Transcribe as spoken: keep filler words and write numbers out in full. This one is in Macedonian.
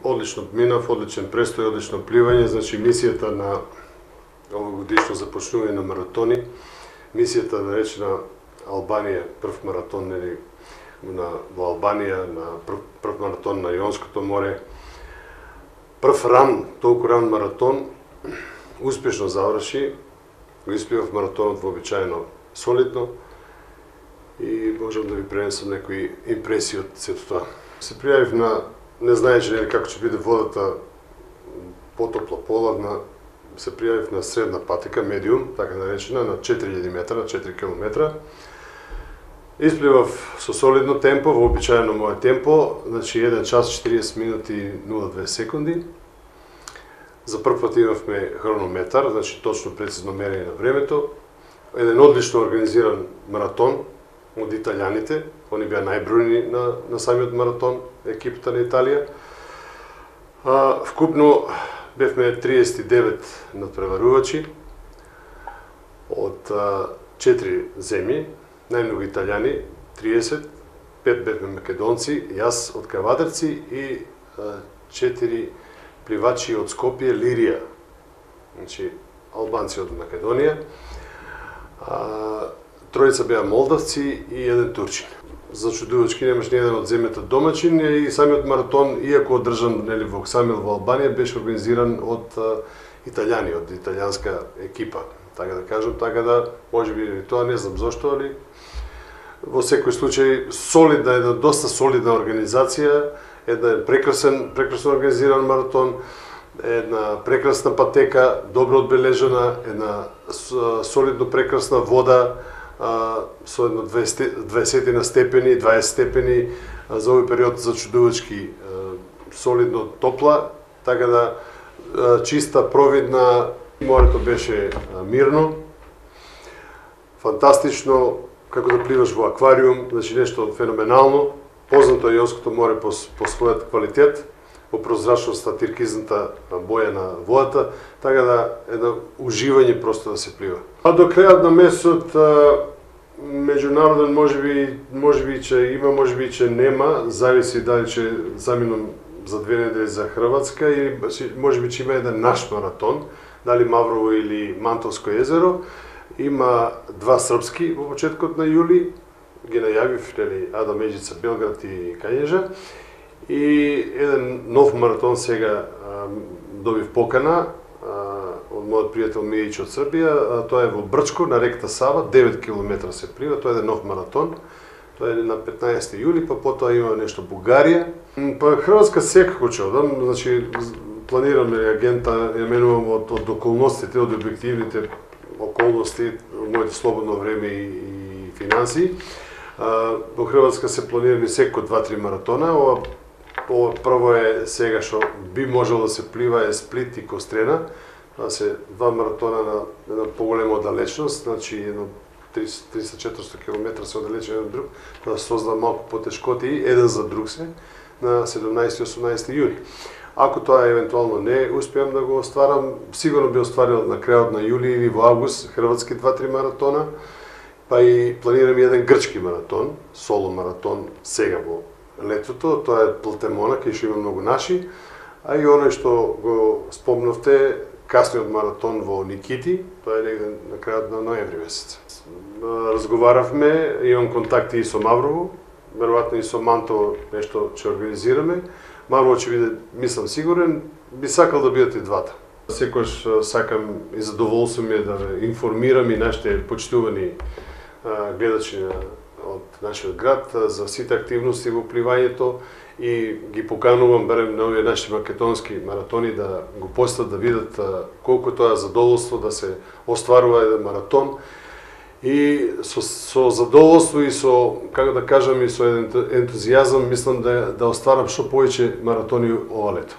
Одлично минав, одличен престој, одлично пливање, значи мисијата на овогодишно започнување на маратони, мисијата наречена Албанија, прв маратон нели на во Албанија, на прв, прв маратон на Јонското море, прв ран, толку ран маратон, успешно заврши, го испливав маратонот вообичаено солидно и можам да ви пренесам некои импресии од сето тоа. Се пријавив на, не знаејќи нели како ќе биде водата, потопла, поладна, се пријавив на средна патека, медиум, така наречена, на четири илјади метра, на четири километра. Испливав со солидно темпо, вообичаено мое темпо, значи еден час четириесет минути нула две секунди. За прв пат имавме хронометар, значи точно прецизно мерење на времето. Еден одлично организиран маратон од италијаните, они беа најбројни на, на самиот маратон, екипата на Италија. А, вкупно бевме триесет и девет надпреварувачи од а, четири земји, најмногу италијани, триесет, пет бевме македонци, јас од Кавадарци и а, четири пливачи од Скопје, Лирија, значи албанци од Македонија. А, тројца беа молдавци и еден турчин. Зачудувачки немаш ни еден од земјата домачин и самиот маратон, иако одржан нели во Оксамил во Албанија, беше организиран од а, италијани, од италијанска екипа, така да кажам, така да можеби тоа не знам зошто, али во секој случај солидна, една доста солидна организација, една прекрасен, прекрасно организиран маратон, една прекрасна патека, добро одбележана, една солидно прекрасна вода, а, со едно дваесет степени, дваесет степени, а, за овој период зачудувачки солидно топла, така да а, чиста, провидна, морето беше а, мирно, фантастично, како да пливаш во аквариум, значи нешто феноменално. Познато е Јонското море по, по својот квалитет, по прозрачноста, тиркизната боја на водата, така да едно уживање просто да се плива. А до крајот на месецот меѓународен можеби можеби ќе има, можеби ќе нема, зависи дали ќе заминам за две недели за Хрватска и можеби ќе има еден наш маратон, дали Маврово или Мантовско езеро. Има два српски во почеткот на јули, ги најавив нели Ада Меđица, Белград и Кањежа. И еден нов маратон сега а, добив покана а, од мојот пријател Мијич од Србија, а, тоа е во Брчко на реката Сава, девет километра се плива, тоа е еден нов маратон. Тоа е на петнаесети јули, па потоа има нешто Бугарија. Па Хрватска секако ќе одам, значи планирам агента, ја менувам од, од околностите, од објективните околности, моето слободно време и, и финанси. А, во Хрватска се планирани секој два-три маратона. Ова, ова прво е сега што би можело да се плива е Сплит и Кострена. Тоа се два маратона на една поголема оддалечност, значи едно триста-четиристо километра се оддалечени еден друг. Тоа создава малку потешкоти еден за друг се на седумнаесети и осумнаесети јуни. Ако тоа евентуално не успеам да го остварам, сигурно би остварил на крајот на јули или во август хрватски два-три маратона, па и планирам еден грчки маратон, соло маратон сега во летото, тоа е Платемона, кај што има многу наши, а и оној што го спомнавте, касниот маратон во Никити, тоа е негде на крајот на ноември месец. Разговаравме, имам контакти и со Маврово, веројатно и со Мантово нешто ќе организираме. Маврово ќе биде, мислам, сигурен, би сакал да бидат и двата. Секојаш сакам и задоволство ми е да ве информирам и нашите почитувани гледачи од нашиот град за сите активности во пливањето и ги поканувам барем на овие наши македонски маратони да го посетат, да видат колку тоа е задоволство да се остварува еден маратон и со, со задоволство и со, како да кажам, и со еден ентузијазам мислам да, да остварам што повеќе маратони ова лето.